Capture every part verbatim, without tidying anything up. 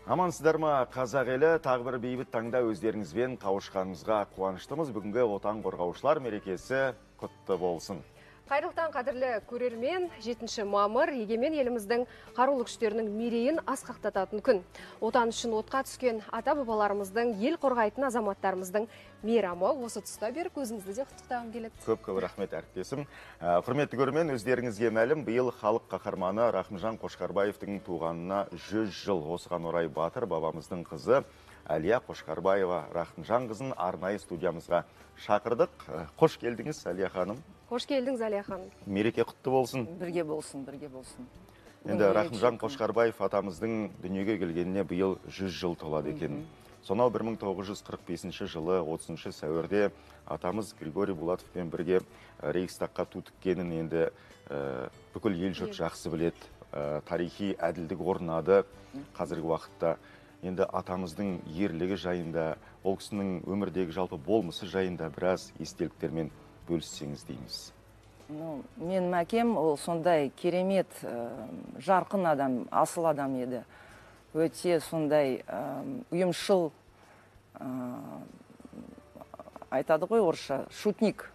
Амансыздар ма, қазақ елі, тағы бір бейбіт таңда өздеріңізбен қауышқанымызға қуаныштымыз. Бүгінгі отан қорғаушылар мерекесі құтты болсын. Қайырлықтан қадірлі көрермен, жетінші мамыр егемен еліміздің қарулы күштерінің мерейін асқақтататын күн. Отан үшін отқа түскен ата-бабаларымыздың, ел қорғайтын азаматтарымыздың мейрамы осы тұста беріп өзіңізді де құттықтағым келеді. Көп-көп рахмет әріптесім. Құрметті көрермен, өздеріңізге мәлім, биыл халық қаһарманы Рахымжан Қошқарбаевтың туғанына жүз жыл. Осыған орай батыр бабамыздың қызы Әлия Қошқарбаева Рахымжан қызын арнайы студиямызға шақырдық. Қош келдіңіз, Әлия ханым. Қош келдіңіз, Әлия ханым. Мереке құтты болсын. Бірге болсын, бірге болсын. Енді Рахымжан Қошқарбаев атамыздың дүниеге келгеніне биыл жүз жыл толады екен. Сонау бір мың тоғыз жүз қырық бесінші жылы отызыншы сәуірде атамыз Григорий Булатовпен бірге Рейхстагқа ту тіккенін енді бүкіл ел жұрт жақсы біледі. Тарихи әділдік орнады қазіргі уақытта. Енді атамыздың ерлігі жайында, ол кісінің өмірдегі жалпы болмысы жайында біраз естеліктермен бөліссеңіз дейміз. Менің әкем ол сондай керемет жарқын адам, асыл адам еді. Өте сондай ұйымшыл, айтады ғой орысша, шутник,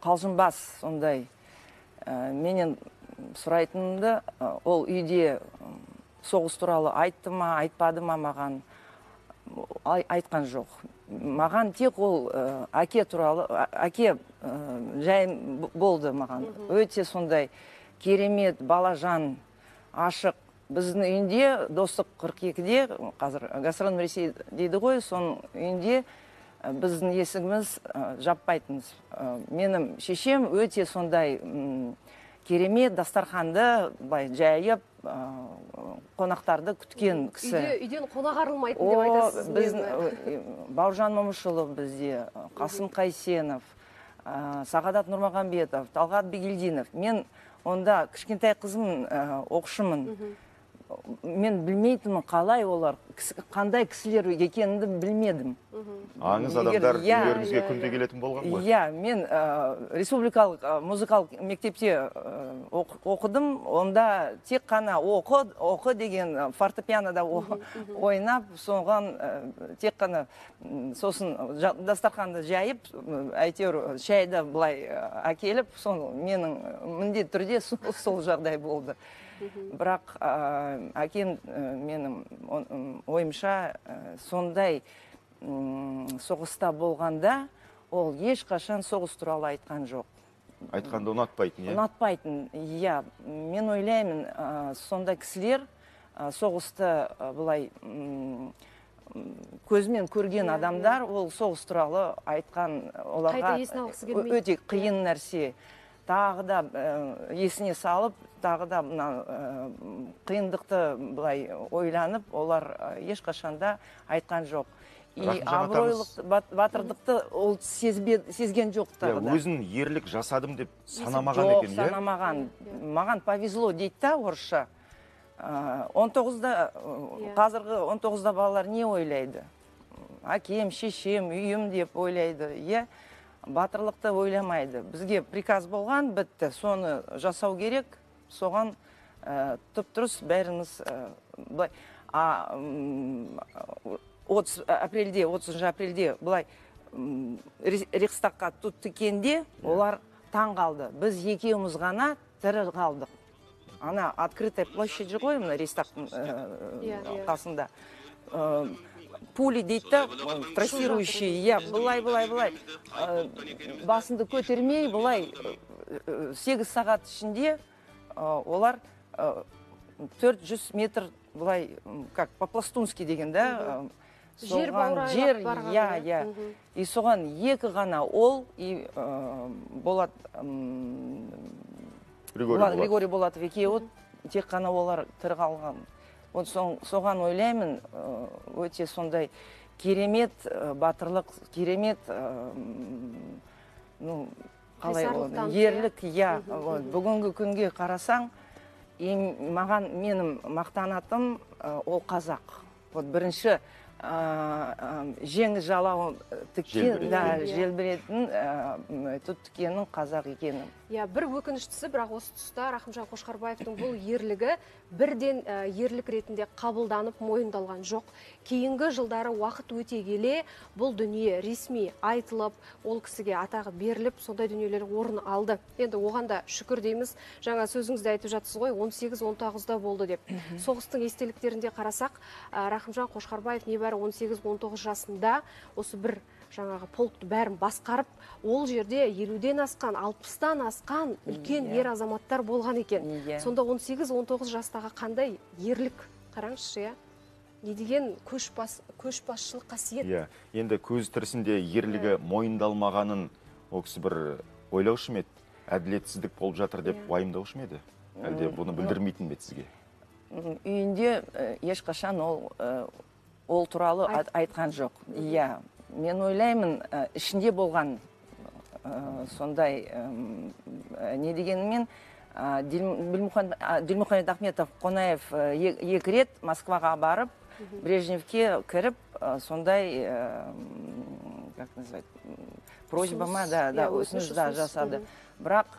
қалжыңбас сондай. Менен сұрайтынымды, ол үйде соғыс туралы айтты ма, айтпады ма маған, айтқан жоқ. Маған тек ол әке туралы, әке жай болды маған. Өте сондай керемет, балажан, ашық. Біздің үйінде достық қырық екіде, қазір Гастрономный Ресей дейді ғой, соның үйінде біздің есігіміз жаппайтыныз. Менің шешем өте сондай керемет дастарханды жайып, қонақтарды күткен кісі. Үйден қонақ арылмайтын деп айтасыз. Біздің Бауыржан Момышұлы бізде, Қасым Қайсенов, Сағадат Нұрмағамбетов, Талғат Бегелдинов. Мен онда кішкентай қызым оқушымын. Мен білмейтінмін қалай олар, қандай кісілер екенімді білмедім. Аңыз адамдар үйлеріңізге күнде келетін болған ғой? Иә, мен республикалық музыкалық мектепте оқыдым. Онда тек қана оқы деген фортепианода ойнап, соған тек қана сосын дастарханды жайып, әйтеуір шайды былай әкеліп, менің міндетті түрде сол жағдай болды. Бірақ әкем менің ойымша сондай соғыста болғанда ол ешқашан соғыс туралы айтқан жоқ. Айтқанды ұнатпайтын, е? Ұнатпайтын, иә. Мен ойлаймын, сондай кісілер соғысты былай көзмен көрген адамдар, ол соғыс туралы айтқан оларға өте қиын нәрсе. Тағы да есіне салып, тағы да қиындықты былай ойланып, олар ешқашанда айтқан жоқ. И абыройлық батырдықты ол сезген жоқ тағы да. Өзін ерлік жасадым деп санамаған екен, е? Жоқ, санамаған. Маған повезло дейді та орысша. он тоғызда, қазіргі он тоғызда балалар не ойлайды? Әкем, шешем, үйім деп ойлайды, е? Батырлықты ойламайды. Бізге приказ болған, бітті. Соны жасау керек, соған тұп-тұрыс бәріміз бұлай. апрельде, отызыншы апрельде бұлай Рейхстагқа ту тіккенде олар таң қалды. Біз екеуміз ғана тірі қалдық. Ана открытая площадь ғой, мына Рейхстагтың қасында. Пули дейді, трассирующий, я, былай, былай, былай, басынды көтермей, былай, сегіз сағат ішінде олар төрт жүз метр, былай, как, по-пластунски деген, да, жер баурайлап барған. Я, я, и соған екі ғана ол, и Болат, Григорий Булатов екеуі, тек қана олар тірі қалған. Соған ойлаймын, өте сондай керемет батырлық, керемет ерлік. Бүгінгі күнге қарасаң, маған менің мақтанатым ол қазақ. Бірінші жеңі жалауын желбіретін тұт тікенің қазақ екенім. Иә, бір өкініштісі, бірақ осы тұста Рахымжан Қошқарбаевтың бұл ерлігі бірден ерлік ретінде қабылданып мойындалған жоқ. Кейінгі жылдары уақыт өте келе бұл дүние ресми айтылып, ол кісіге атағы беріліп, сондай дүниелер орын алды. Енді оған да шүкір дейміз. Жаңа сөзіңізде айтып жатсыз ғой, он сегіз он тоғызда болды деп. Соғыстың естеліктерінде қарасақ, Рахымжан Қошқарбаев небәрі он сегіз он тоғыз жасында осы бір жаңағы полкты бәрін басқарып, ол жерде елуден асқан, алпыстан асқан үлкен ер азаматтар болған екен. Сонда он сегіз он тоғыз жастағы қандай ерлік, қараңызшы, не деген көшбасшылық қасиет. Иә, енді көз тірісінде ерлігі мойындалмағанын ол кісі бір ойлаушы ма еді, әділетсіздік болып жатыр деп уайымдаушы ма еді? Әлде бұны білдірмейтін бе сізге? Үйінде ешқашан ол ол туралы айтқан жоқ. Иә. Мен ойлаймын, ішінде болған сондай не дегенмен Дилмухамед Ахметов Қонаев екі рет Москваға барып, Брежневке кіріп, сондай, как называть, просьбама да, өсініш жасады. Бірақ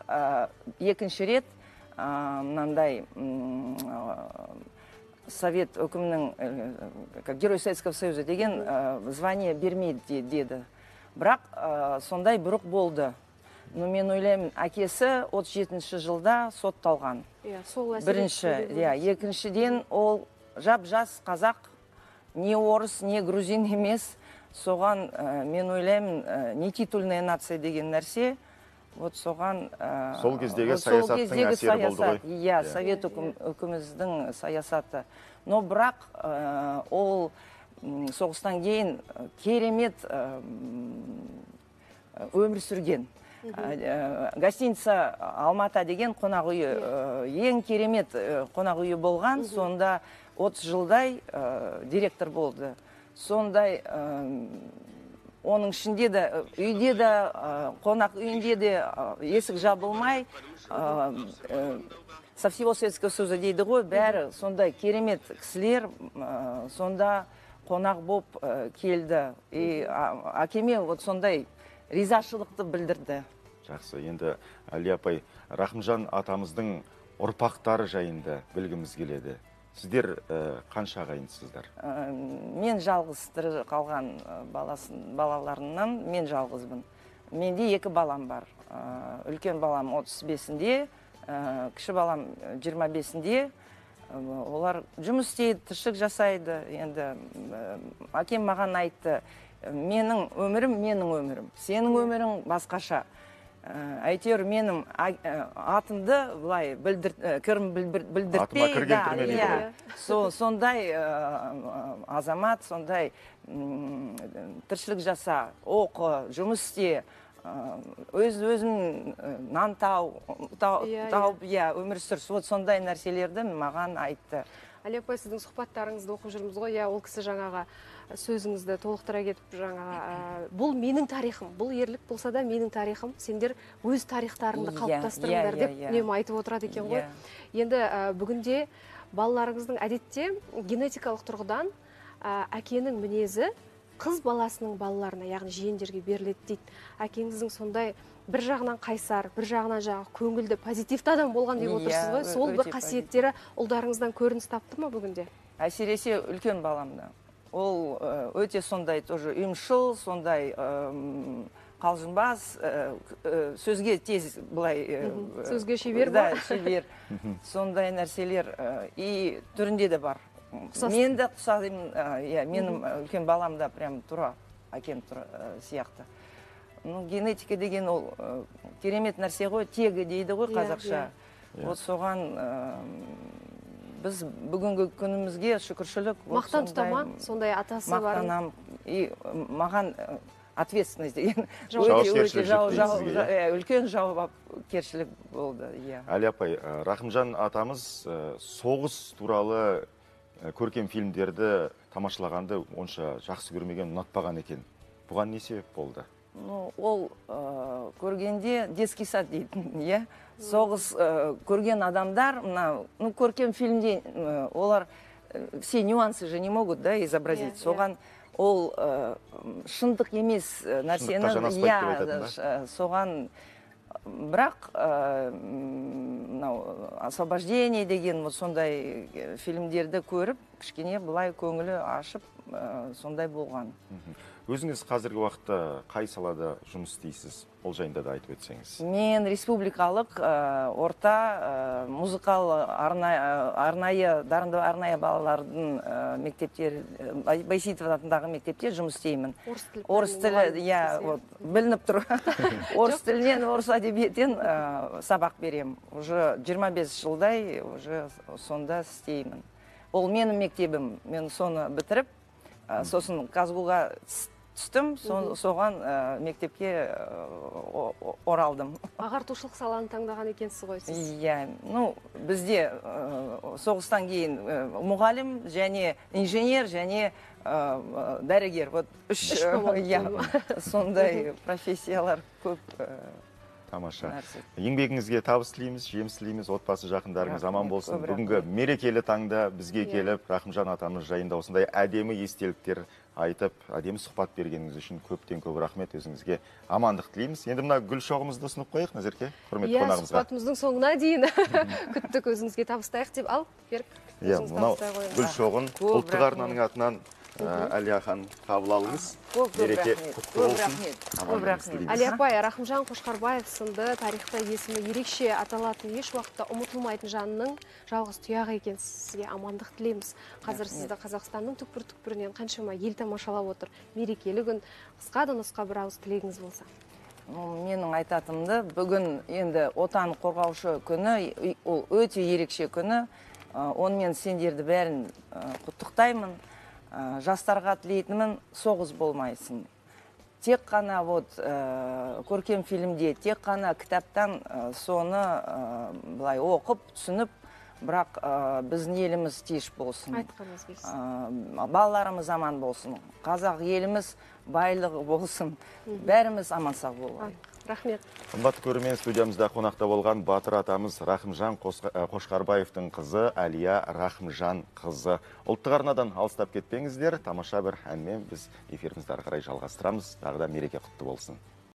екінші рет мынандай Совет өкімінің, как Герой Советского Союза деген звание бермейді деді. Бірақ сондай бұрық болды. Но мен ойлаймын, әкесі отыз жетінші жылда сотталған. Бірінші, екіншіден ол жап-жас қазақ, не орыс, не грузин емес. Соған мен ойлаймын, не титульная нация деген нәрсе. Вот соған... Сол кездегі саясаттың әсері болды ғой? Иә, Совет өкіміздің саясаты. Но бірақ ол соғыстан кейін керемет өмір сүрген. Гостиница Алмата деген қонақ үйі, ең керемет қонақ үйі болған. Сонда отыз жылдай директор болды. Сондай... Оның ішінде де, үйде де, қонақ үйінде де есік жабылмай, со всего Советского Союза дейді ғой, бәрі сондай керемет кісілер сонда қонақ боп келді. И әкеме сондай ризашылықты білдірді. Жақсы, енді Әли апай, Рахымжан атамыздың ұрпақтары жайында білгіміз келеді. Сіздер қанша ағайындысыздар? Мен жалғыз тірі қалған балаларымнан мен жалғызбын. Менде екі балам бар. Үлкен балам отыз бесінде, кіші балам жиырма бесінде. Олар жұмыс істейді, тіршілік жасайды. Енді әкем маған айтты, менің өмірім, менің өмірім. Сенің өмірің басқаша. Әйтеуір менің атымды былай кірім білдіртпей. Атыма кірген түрме дейді ғой. Сондай азамат, сондай тіршілік жаса, оқы, жұмыс істе, өз-өзін нан тауып, өмір сүр. Сондай нәрселерді маған айтты. Әли апай, сіздің сұхбаттарыңызды оқып жүрміз ғой, ол кісі жаңаға сөзіңізді толықтыра кетіп жаңаға, бұл менің тарихым, бұл ерлік болса да менің тарихым, сендер өз тарихтарыңды қалыптастырыңдар деп үнемі айтып отырады екен ғой. Енді бүгінде балаларыңыздың әдетте генетикалық тұрғыдан әкенің мінезі қыз баласының балаларына, яғни жиендерге беріледі дейді. Әкеңіздің сондай бір жағынан қайсар, бір жағынан жағы көңілді, позитивті адам болған деп отырсыз ғой. Сол бір қасиеттері ұлдарыңыздан көрініс тапты ма бүгінде? Әсіресе үлкен баламда. Ол өте сондай тоже ұйымшыл, сондай қалжыңбас, сөзге тез былай... Сөзге шебер ба? Да, шебер. Сондай нәрселер и түрінде де бар. Мен де құсадым, менің үлкен баламда прям тұра, әкем сияқты. Генетика деген ол керемет нәрсе ғой, тегі дейді ғой қазақша. Вот соған біз бүгінгі күнімізге шүкіршілік. Мақтан тұтама, сондай атасы бар. Мақтанам. И маған ответственность деген үлкен жауапкершілік болды. Әли апай, Рахымжан атамыз соғыс туралы көркем фильмдерді тамашылағанды онша жақсы көрмеген, ұнатпаған екен. Бұған не себеп болды? Ол көргенде детский сад дейтін, соғыс көрген адамдар, көркем фильмде олар все нюансы же не могут изобразить. Соған ол шындық емес нәрсені, соған бірақ мынау освобождение деген вот сондай фильмдерді көріп кішкене былай көңілі ашып сондай болған. Өзіңіз қазіргі уақытта қай салада жұмыс істейсіз? Ол жайында да айтып өтсеңіз. Мен республикалық орта музыкалы арнайы дарынды арнайы балалардың мектептер, Байсейітов атындағы мектепте жұмыс істеймін. Орыс тілі, иә, білініп тұр. Орыс тілінен, орыс әдебиеттен сабақ берем. Уже жиырма бес жылдай уже сонда істеймін. Ол менің мектебім. Мен соны бітіріп, сосын Казгуға түстім, соған мектепке оралдым. Ағартушылық саланы таңдаған екенсіз ғой сіз? Иә, ну, бізде соғыстан кейін мұғалім, және инженер, және дәрігер. Вот үш сондай профессиялар көп. Тамаша. Еңбегіңізге табыс тілейміз, жеміс тілейміз, отбасы жақындарыңыз аман болсын. Бүгінгі мерекелі таңда бізге келіп, Рахымжан атамыз жайында осындай әдемі естеліктер айтып, әдемі сұхбат бергеніңіз үшін көптен көп рахмет, өзіңізге амандық тілейміз. Енді мына гүл шоғымызды ұсынып қойық, Назерке, құрметті қонағымызға. Иә, сұхбатымыздың соңына дейін күттік, өзіңізге табыстайық деп. Ал, Берік, өзіңіз табыстай қойыңыз. Гүл шоғын ұлттық арнаның атынан Әлия ханым қабыл алыңыз. Мереке құтты болсын. Көп рахмет. Әлия апай, Рахымжан Қошқарбаев сынды тарихта есімі ерекше аталатын, еш уақытта ұмытылмайтын жанның жалғыз тұяғы екен. Сізге амандық тілейміз. Қазір сізді Қазақстанның түкпір-түкпірінен қаншама ел тамашалап отыр. Мерекелі күн, қысқа да нұсқа бір ауыз тілегіңіз болса. Менің айтатымды, бүгін енді отан қорғаушы күні, ол өте ерекше күні. Онымен сендерді бәрін құттықтаймын. Жастарға тілейтінімін, соғыс болмайсын. Тек қана вот көркем фильмде, тек қана кітаптан соны былай оқып, түсініп, бірақ біздің еліміз тиыш болсын. Айтқаныңыз келсін. Балаларымыз аман болсын. Қазақ еліміз байлығы болсын. Бәріміз аман сау болайық. Рахмет. Қымбатты көрермен, студиямызда қонақта болған батыр атамыз Рахымжан Қошқарбаевтың қызы Әлия Рахымжан қызы. Ұлттық арнадан алыстап кетпеңіздер, тамаша бір әнмен біз эфирімізді ары қарай жалғастырамыз. Тағы да мереке құтты болсын.